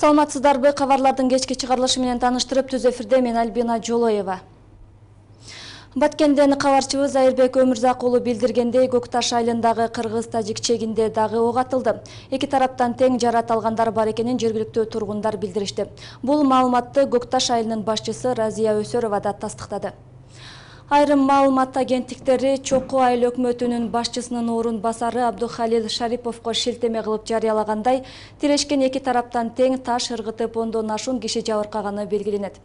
Саламатсыздарбы, кабарлардын кечки чыгарылышы менен таныштырып, түз эфирде мен Альбина Жолоева. Баткенден кабарчыбыз Айырбек Өмүрзак уулу билдиргендей, Көкташ айылындагы кыргыз-тажик чегинде дагы ок атылды. Эки тараптан тең жарат алгандар бар экенин жергиликтүү тургундар билдиришти. Бул маалыматты Көкташ айылынын башчысы Разия Өсөрова да тастыктады. Айрым маалымат агенттиктери Чокуу айыл өкмөтүнүн башчысынын орун басары Абдухалил Шариповго шилтеме кылып жарыялагандай, тирешкен эки тараптан тең таш ыргытып ондон ашуун киши жабыркаганы белгиленет.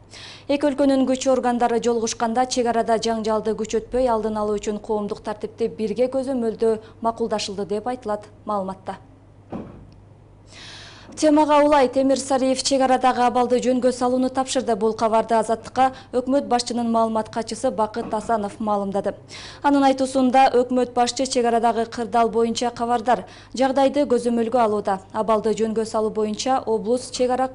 Эки өлкөнүн күч органдары жолугушканда чек арада жаңжалды күчөтпөй алдын алуу үчүн коомдук тартипти бирге көзөмөлдөө макулдашылды деп айтылат маалыматта. Темага улай Темир Сариев чек арадагы абалды жөнгө салууну тапшырды. Бул кабарды Азаттыкка өкмөт башчынын маалымат катчысы Бакыт Асанов маалымдады. Анын айтуусунда өкмөт башчы чек арадагы кырдаал боюнча кабардар, жагдайды көзөмөлгө алууда. Абалды жөнгө салуу боюнча облус чек ара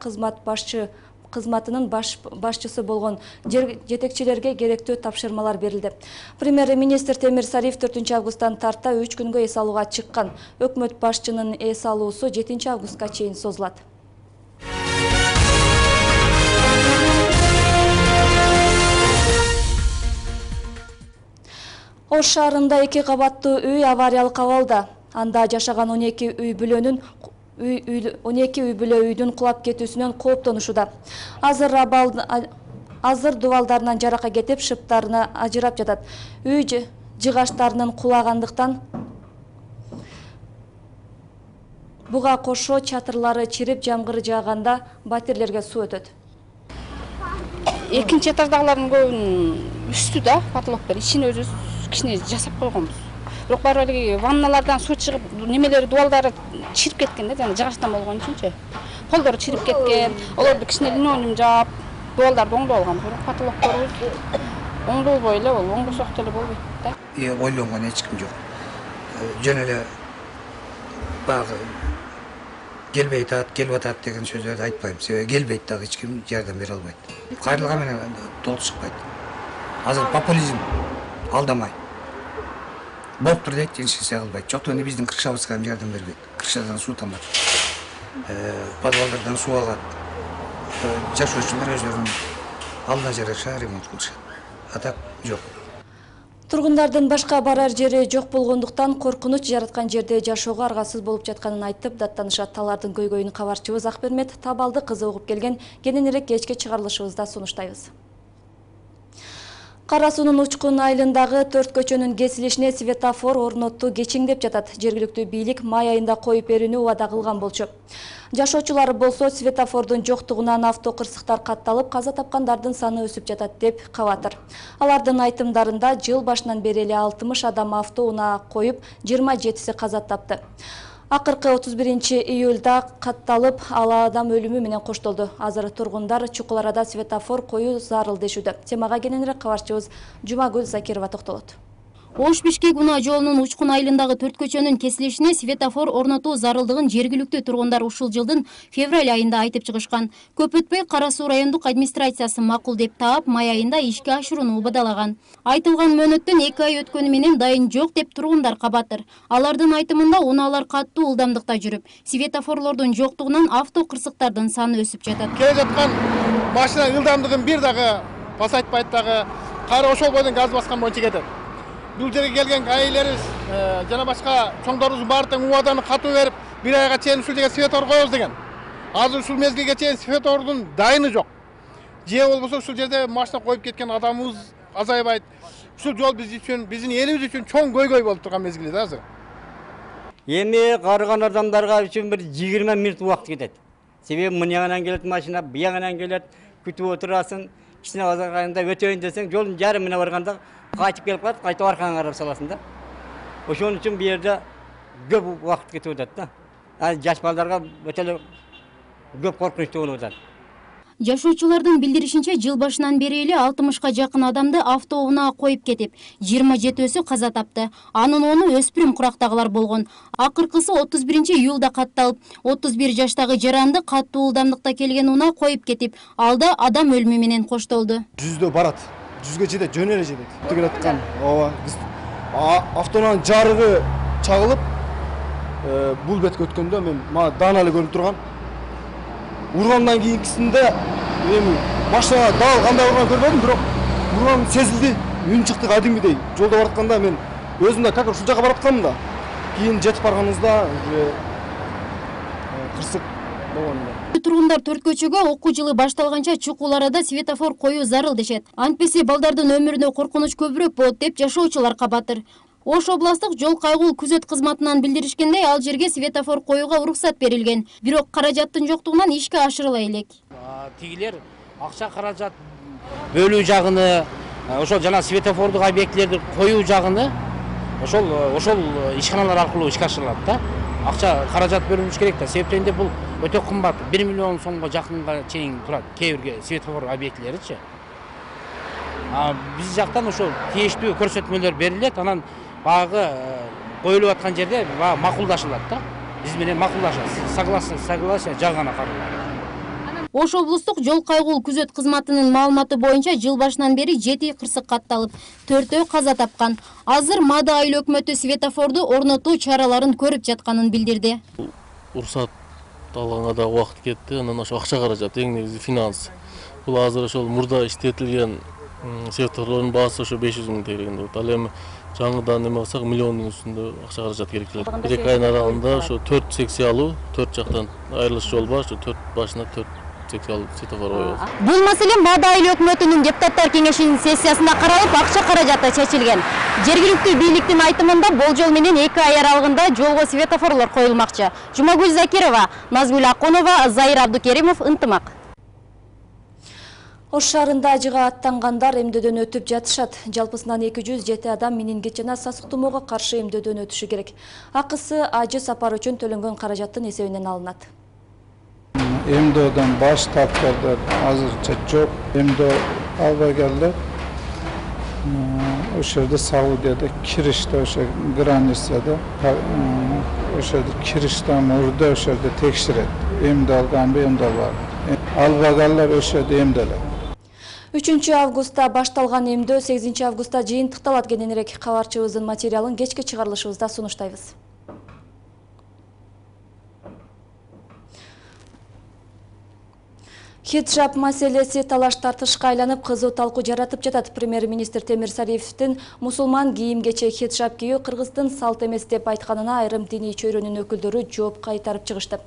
кызматынын башчысы болгон жетекчилерге керектүү тапшырмалар берилди. Премьер-министр Темир Сариев 4 августтан тарта 3 күнгө эс алууга чыккан. Өкмөт башчынын эс алуусу 7 августка чейин созулат. Ош шаарында 2 кабаттуу үй авариялык абалда. Анда жашаган 12 үй бүлөнүн 12 үй бүлө үйдүн кулап кетүүсүнөн кооптонушууда. Азыр дубалдарынан жарака кетип, шыптарына ажырап жатат. Үй жыгаштарынын кулагандыктан буга кошо чатырлары чирип, жамгыр жааганда батирлерге суу өтөт. Экинчи этаждагылардын көбүнүн үстү да потолоктор, ичине өзүбүз кичине жасап койгонбуз. Бирок баары ванналардан суу чыгып, немелери дубалдары чирип кеткен да, жана жыгачтан болгон үчүнчү. Полдору чирип кеткен, олорду кичине линолеум жаап, дубалдарды оңдоп алган. Бирок потолокторубуз оңдолбой эле болду, оңдосок деле болбойт да. Ойлонгон эч ким жок. Жөн эле баягы келбейт атат, келип атат деген сөздөрдү айтпайм. Себеби келбейт дагы эч ким жардам бере албайт. Кайрылган менен толук чыкпайт. Азыр популизм алдамай. Болуптур дейт, эчкисе кылбайт. Жоктон биздин крышабызга жардам бербейт. Крышадан суу тамат. Подвалдардан суу алат. Жашоочулар өздөрүнүн алдына жараша ремонт кылышат. А так жок. Тургундардын башка барар жери жок болгондуктан коркунуч жараткан жерде жашоого аргасыз болуп жатканын айтып даттанышат. Алардын көйгөйүн кабарчыбыз Акбермет Табалды кызы угуп келген. Кененирээк кечки чыгарылышыбызда сунуштайбыз. Кара суунун Учкун айылындагы 4 көчөнүн кесилишине светофор орноттуу кечиңдеп жатат. Жергиликтүү бийлик май айында коюп берүүнү убада кылган болчу. Жашоочулар болсо светофордун жоктугунан автокырсыктар катталып, каза тапкандардын саны өсүп жатат деп кабатыр. Алардын айтымдарында жыл башынан бери эле 60 адам автоунаа коюп, 27си каза тапты. Акыркы 31-июлда катталып, ал адам өлүмү менен коштолду. Азыр тургундар чукул арада светофор коюу зарыл дешүүдө. Темага кененирээк кабарчыбыз Жумагүл Закирова токтолот. Ош-Бишкек унаа жолунун Учкун айылындагы 4 көчөнүн кесилишине светофор орнотуу зарылдыгын жергиликтүү тургундар ушул жылдын февраль айында айтып чыгышкан. Көп өтпөй Кара Суу райондук администрациясы макул деп таап, май айында ишке ашырууну убадалаган. Айтылган мөөнөттөн 2 ай өткөнү менен дайын жок деп тургундар кабатыр. Алардын айтымында унаалар каттуу ылдамдыкта жүрүп, светофорлордун жоктугунан авто кырсыктардын саны өсүп жатат. Келе жаткан машина ылдамдыгын бир дагы пасайтпайт дагы, кайра ошол бойдон газ баскан боюнча кетет. Бул жерге келген гаилерибиз жана башка чоңдорубуз баары тең убаданы катуу берип, бир айга чейин ушул жерге светофор коебуз деген. Азыр ушул мезгилге чейин светофордун дайыны жок. Же болбосо ушул жерде машина коюп кеткен адамыбыз азайбайт. Ушул жол биз үчүн, биздин элибиз үчүн чоң көйгөй болуп турган мезгили да азыр. Эми карыган адамдарга үчүн бир 20 мүнөт убакыт кетет. Себеби мынягынан келет машина, буягынан келет, күтүп отурасың, кичине азырганда өтөйүн десең, жолдун жарымына барганда кайтып келип калат, кайтып аркаңа карап саласың да. Ошон үчүн бу жерде көп убакыт кетип атат да. Жаш балдарга өтө эле көп коркунучтуу болуп атат. Жашоочулардын билдиришинче, жыл башынан бери эле 60ка жакын адамды автоунаа коюп кетип, 27өсү каза тапты. Анын 10-у өспүрүм курактагылар болгон. Акыркысы 31-июлда катталып, 31 жаштагы жаранды каттуу ылдамдыкта келген унаа коюп кетип, алда адам өлүмү менен коштолду. 100дө барат. 100ге жетет, жөн эле жетет. Келе аткан, автоунаанын жарыгы чагылып, бул бетке өткөндө мен даана эле көрүнүп турган. ургандан кийинкисинде эми машина дал кандай урган көрбөдүм, бирок урган сезилди. Үн чыкты кадимгидей. Жолдо баратканда мен өзүм да как ушул жака барып атканмын да. Кийин жетип барганыбызда уже кырсык болгон эле. Тургундар төрт көчөгө окуу жылы башталганча чукул арада светофор коюу зарыл дешет. Антпесе балдардын өмүрүнө коркунуч көбүрөөк болот деп жашоочулар кабатыр. Ош областык жол кайгуу күзөт кызматынан билдиришкендей, ал жерге светофор коюуга уруксат берилген. Бирок каражаттын жоктугунан ишке ашырыла элек. Тигилер акча каражат бөлүү жагыны, ошол жана светофордук объектилерди коюу жагыны ошол ишканалар аркылуу ишке ашырылат да. Акча каражат бөлүнүш керек да. Себептен бул өтө кымбат. 1 миллион сомго жакынга чейин турат кээ бир светофор объектилеричи. Биз жактан ошол тийиштүү көрсөтмөлөр берилет, анан багы коюлуп аткан жерде макулдашылат да. Биз менен макулдашат. Согласие жагана каралат. Ош облустук жол кайгуу күзөт кызматынын маалыматы боюнча жыл башынан бери 7 кырсык катталып, 4-өө каза тапкан. Азыр Мада айыл өкмөтү светофорду орнотуу чараларын көрүп жатканын билдирди. Уруксат алганга да убакыт кетти, анан ошо акча каражат, эң негизи финанс. Бул азыр ошол мурда иштетилген светофорлордун баасы ошо 500 000 тегерген болот. Ал эми жаңыдан эме кылсак миллиондун үстүндө акча каражат керек келет. 1-2 айдын аралыгында ошо 4 секция алуу, 4 жактан айрылыш жол бар, ошо 4 башына 4 секция алуу светофор коюлат. Бул маселе Мада айыл өкмөтүнүн депутаттар кеңешинин сессиясында каралып, акча каражаты чечилген. Жергиликтүү бийликтин айтымында болжол менен 2 ай аралыгында жолго светофорлор коюлмакчы. Жумагүл Закирова, Назгүл Акунова, Зайыр Абдукеримов, Ынтымак. Ош шаарында ажыга аттангандар эмдөөдөн өтүп жатышат. Жалпысынан 207 адам менингит жана сасык тумоого каршы эмдөөдөн өтүшү керек. Акысы ажы сапар үчүн төлөнгөн каражаттын эсебинен алынат. Эмдөөдөн баш тарткандар азырча жок. Эмдөө албай келди. Ошол жерде Саудияда кириште, ошо границада ошо жерде кириштен мурда ошо жерде текшерет. Эмдөө алганбы, эмдөө албайбы. Албагандар ошо жерде эмделет. 3 августта башталган эмдөө 8 августта жыйынтыкталат. Кененирээк кабарчыбыздын материалын кечки чыгарылышыбызда сунуштайбыз. Хиджаб маселеси талаш тартышка айланып, кызуу талкуу жаратып жатат. Премьер-министр Темир Сариевдин мусулман кийим-кечек хиджаб кийүү Кыргыздын салт эмес деп айтканына айрым диний чөйрөнүн өкүлдөрү жооп кайтарып чыгышты.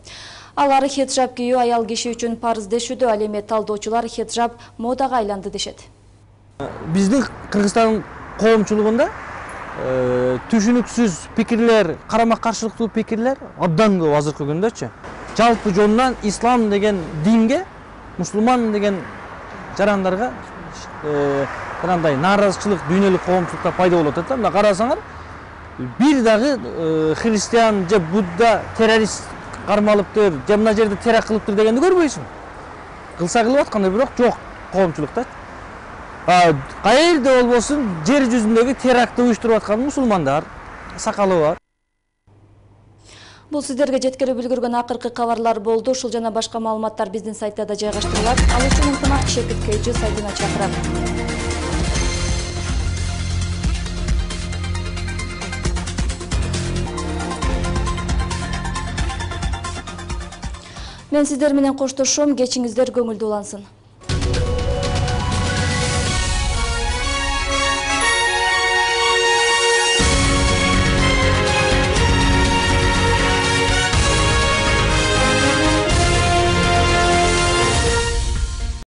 Алар хиджаб кийүү аял киши үчүн парыз дешүүдө, ал эми талдоочулар хиджаб модага айланды дешет. Биздин Кыргызстан коомчулугунда түшүнүксүз пикирлер, карама-каршылыктуу пикирлер абдан көп азыркы күндөчү. Жалпы жонунан ислам деген динге, мусулман деген жарандарга кандай нааразычылык, дүйнөлүк коомчулукта пайда болуп атат да. Мына карасаңар, бир дагы христиан же Будда террорист кармалыптыр, же мына жерде теракт кылыптыр дегенди көрбөйсүң. Кылса кылып аткандай, бирок жок коомчулукта. Каерде болбосун жер жүзүндөгү терактты уюштуруп аткан мусулмандар, сакалы бар. Бул сиздерге жеткирип үлгүргөн акыркы кабарлар болду. Ушул жана башка маалыматтар биздин сайттарда жайгаштырылат. Ал үчүн Ынтымак Шепет Кейжи сайтына чакырам. Мен сиздер менен коштошом. Кечиңиздер көңүлдүү улансын.